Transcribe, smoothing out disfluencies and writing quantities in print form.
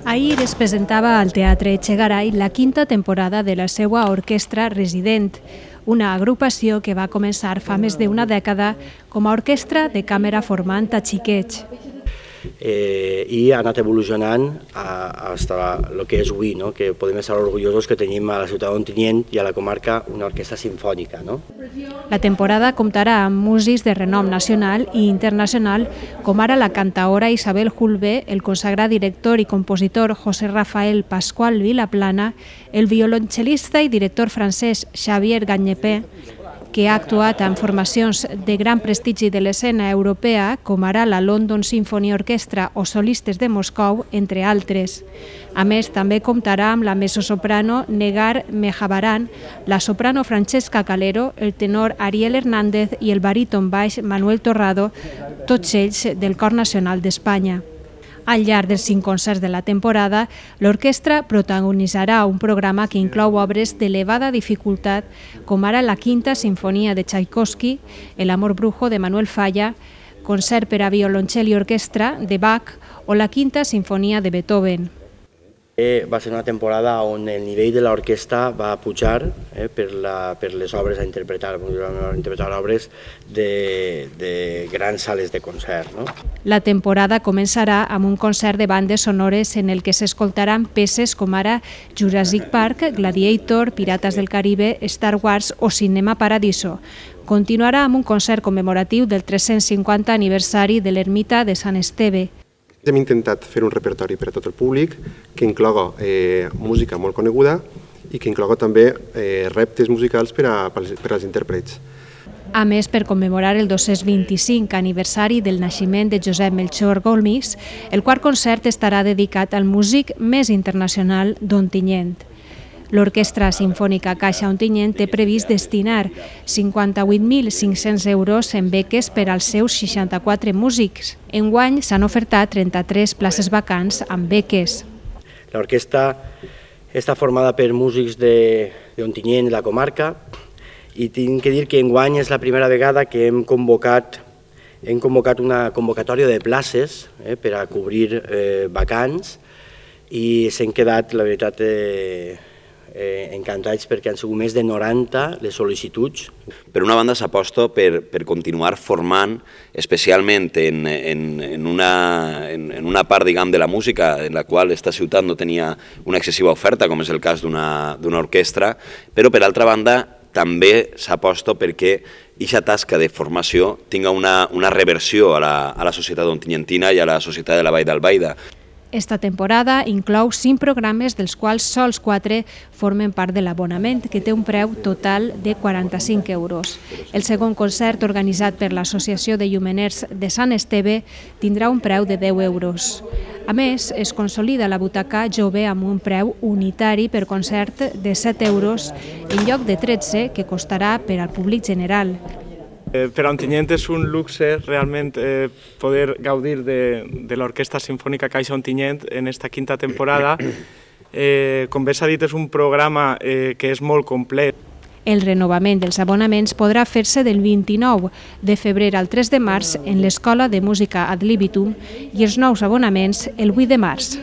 Ahir es presentava al Teatre Echegaray la quinta temporada de la seva orquestra resident, una agrupació que va començar fa més d'una dècada com a orquestra de càmera formant a xiquets. I ha anat evolucionant fins el que és avui, que podem estar orgullosos que tenim a la ciutat d'Ontinyent i a la comarca una orquestra sinfònica. La temporada comptarà amb músics de renom nacional i internacional, com ara la cantaora Isabel Julve, el consagrat director i compositor José Rafael Pascual Vilaplana, el violoncel·lista i director francès Xavier Gagnepé, que ha actuat en formacions de gran prestigi de l'escena europea, com ara la London Symphony Orchestra o solistes de Moscou, entre altres. A més, també comptarà amb la mezzosoprano Negar Mejabaran, la soprano Francesca Calero, el tenor Ariel Hernández i el baríton baix Manuel Torrado, tots ells del Cor Nacional d'Espanya. Al llarg dels 5 concerts de la temporada, l'orquestra protagonitzarà un programa que inclou obres d'elevada dificultat, com ara la Quinta Sinfonia de Tchaikovsky, El amor brujo de Manuel Falla, Concert per a violoncel i orquestra de Bach o la Quinta Sinfonia de Beethoven. Va ser una temporada on el nivell de l'orquestra va pujar per les obres a interpretar, obres de grans sales de concert. La temporada començarà amb un concert de bandes sonores en el que s'escoltaran peces com ara Jurassic Park, Gladiator, Pirates del Caribe, Star Wars o Cinema Paradiso. Continuarà amb un concert commemoratiu del 350 aniversari de l'ermita de Sant Esteve. Hem intentat fer un repertori per a tot el públic que incloga música molt coneguda i que incloga també reptes musicals per als intèrprets. A més, per commemorar el 225 aniversari del naixement de Josep Melchor Golmix, el quart concert estarà dedicat al músic més internacional d'Ontinyent. L'Orquestra Simfònica Caixa Ontinyent té previst destinar 58.500 euros en beques per als seus 64 músics. Enguany s'han ofertat 33 places vacants amb beques. L'orquestra està formada per músics d'Ontinyent i la comarca i tinc que dir que enguany és la primera vegada que hem convocat una convocatòria de places per a cobrir vacants i s'han quedat, la veritat, encantats perquè han sigut més de 90 les sol·licituds. Per una banda s'aposta per continuar formant, especialment en una part de la música en la qual aquesta ciutat no tenia una excessiva oferta, com és el cas d'una orquestra, però per altra banda també s'aposta perquè aquesta tasca de formació tinga una reversió a la societat ontinyentina i a la societat de la Vall d'Albaida. Esta temporada inclou 5 programes, dels quals sols 4 formen part de l'abonament, que té un preu total de 45 euros. El segon concert, organitzat per l'Associació de Llumeners de Sant Esteve, tindrà un preu de 10 euros. A més, es consolida la butaca jove amb un preu unitari per concert de 7 euros en lloc de 13, que costarà per al públic general. Per a Ontinyent és un luxe realment poder gaudir de l'Orquestra Simfònica Caixa Ontinyent en esta quinta temporada. Com bé s'ha dit, és un programa que és molt complet. El renovament dels abonaments podrà fer-se del 29 de febrer al 3 de març en l'Escola de Música Ad Libitum i els nous abonaments el 8 de març.